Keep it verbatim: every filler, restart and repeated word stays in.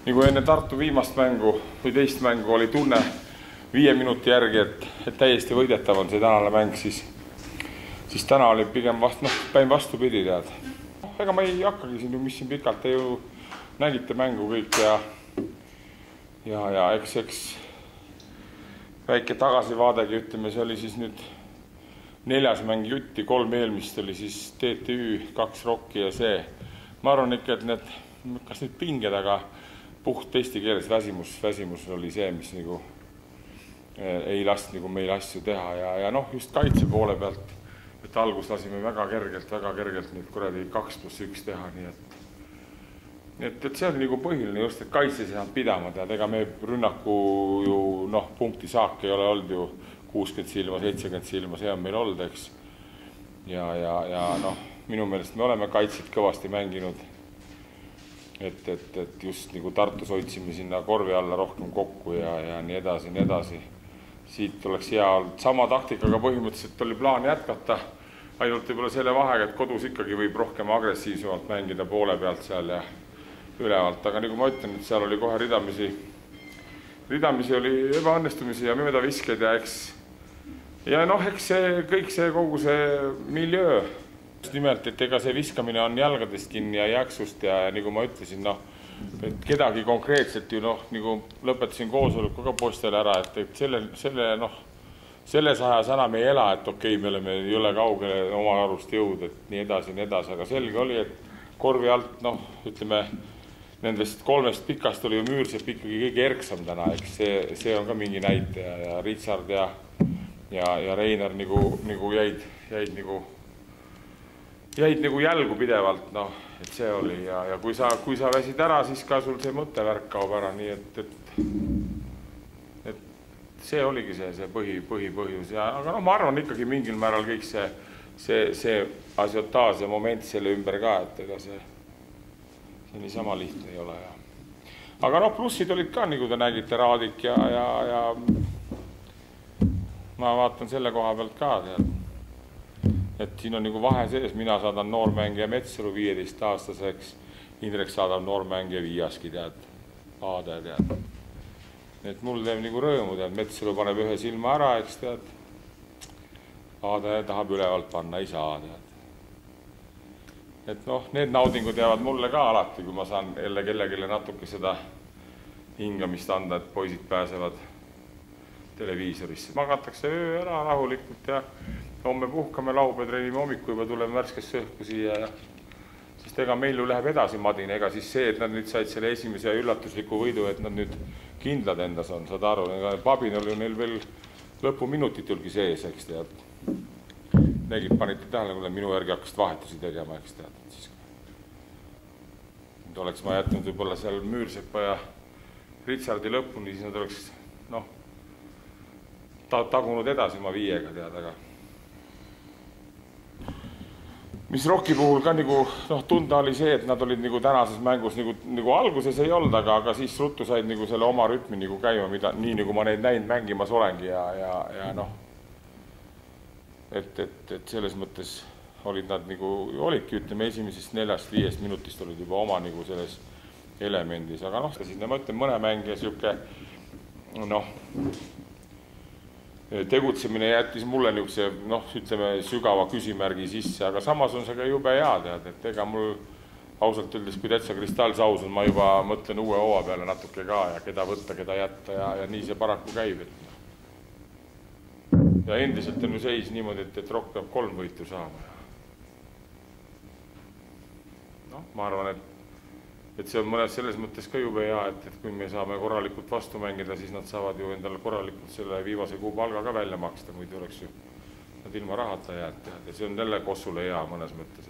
nagu enne Tartu viimast mängu või teist mängu oli tunne viie minuti järgi, et, et täiesti võidetav on see tänane mäng, siis, siis täna oli pigem vast, noh, päin vastupidi tead. Ega ma ei hakkagi siin, mis siin pikalt, te ju nägite mängu kõik ja, ja, ja eks, eks väike tagasivaadegi, ütleme, see oli siis nüüd neljas mäng jutti, kolm eelmist oli siis T T Ü, kaks Rocki ja see. Ma arvan ikka, et need, kas nüüd pinged, aga puht eesti keeles väsimus, väsimus oli see, mis nagu ei last nagu meil asju teha ja, ja noh, just kaitse poole pealt, et algus lasime väga kergelt, väga kergelt nüüd kuradi kaks pluss üks teha, nii et et, et see oli nagu põhiline just, et kaitse ei saanud pidama, tead, ega me rünnaku ju, noh, punkti saak ei ole olnud ju kuuskümmend silma, seitsekümmend silma, see on meil olnud, eks. Ja, ja, ja noh, minu meelest me oleme kaitset kõvasti mänginud, et, et, et just nagu Tartus hoidsime sinna korvi alla rohkem kokku ja, ja nii edasi, nii edasi. Siit oleks hea olnud sama taktikaga põhimõtteliselt oli plaan jätkata, ainult võib-olla selle vahega, et kodus ikkagi võib rohkem agressiivsemalt mängida poole pealt seal ja ülevalt, aga nagu ma ütlen, et seal oli kohe ridamisi, ridamisi oli ebaõnnestumisi ja mööda viskeid ja eks, ja noh, eks see, kõik see, kogu see miljöö, nimelt, et ega see viskamine on jalgadest kinni ja jäksust ja, ja nagu ma ütlesin, noh, et kedagi konkreetselt ju, noh, nagu lõpetasin koosoleku ka postele ära, et, et selle, selle, noh, selles ajas enam ei ela, et okei, me oleme jõle kaugele oma arust jõud, et nii edasi, nii edasi, aga selge oli, et korvi alt, noh, ütleme, nendest kolmest pikast oli ju Müürsepp ikkagi kõige erksam täna, eks see, see on ka mingi näitaja ja Richard ja, ja, ja Reinar nagu, nagu jäid, jäid nagu, jäid nagu jälgu pidevalt, noh, et see oli ja, ja kui sa, kui sa väsid ära, siis ka sul see mõttevärk kaob ära, nii et, et, et see oligi see, see põhi, põhi põhjus ja, aga noh, ma arvan ikkagi mingil määral kõik see, see, see asiotaas ja moment selle ümber ka, et ega see see niisama lihtne ei ole. Ja. Aga noh, plussid olid ka, nagu te nägite, Raadik ja, ja, ja ma vaatan selle koha pealt ka, tead. Et siin on nagu vahe sees, mina saadan noormängija Metsalu viieteist aastaseks, Indrek saadab noormängija Viiaski, tead, Aade, tead. Et mul teeb nagu rõõmu, tead, Metsalu paneb ühe silma ära, eks tead, Aade tahab ülevalt panna, ei saa, tead. Et noh, need naudingud jäävad mulle ka alati, kui ma saan jälle kellegile natuke seda hingamist anda, et poisid pääsevad televiisorisse. Magatakse öö ära rahulikult ja homme puhkame, laupäev treenime hommiku juba tuleme värskesse õhku siia ja sest ega meil ju läheb edasi madin, ega siis see, et nad nüüd said selle esimese üllatusliku võidu, et nad nüüd kindlad endas on, saad aru, Pabin oli neil veel lõpuminutit julgi sees, eks tead. Negid panite tähele, kui minu järgi hakkasid vahetusi tegema, eks tead. Siis, nüüd oleks ma jätnud võib-olla seal Müürsepa ja Richardi lõpuni, siis nad oleks noh, ta tagunud edasi ma viiega tead, aga mis Rocki puhul ka nagu, noh, tunda oli see, et nad olid nagu tänases mängus nagu, nagu alguses ei olnud, aga, aga siis ruttu said nagu selle oma rütmi nagu käima, mida, nii nagu ma neid näinud mängimas olengi ja, ja, ja noh, Et, et, et selles mõttes olid nad nagu, olidki, ütleme, esimesest neljast viiest minutist olid juba oma nagu selles elemendis, aga noh, siis ma ütlen, mõne mängija siuke, noh, tegutsemine jättis mulle niisuguse, noh, ütleme, sügava küsimärgi sisse, aga samas on see ka jube hea, tead, et ega mul ausalt öeldes, kui täitsa kristallsaus on, ma juba mõtlen uue hooa peale natuke ka ja keda võtta, keda jätta ja, ja nii see paraku käib, et ja endiselt on ju seis niimoodi, et, et Rock peab kolm võitu saama. Noh, ma arvan, et, et see on mõnes selles mõttes ka jube hea, et, et kui me saame korralikult vastu mängida, siis nad saavad ju endale korralikult selle viimase kuu palga ka välja maksta, muidu oleks ju nad ilma rahata jääd. Ja see on jälle Kossule hea mõnes mõttes.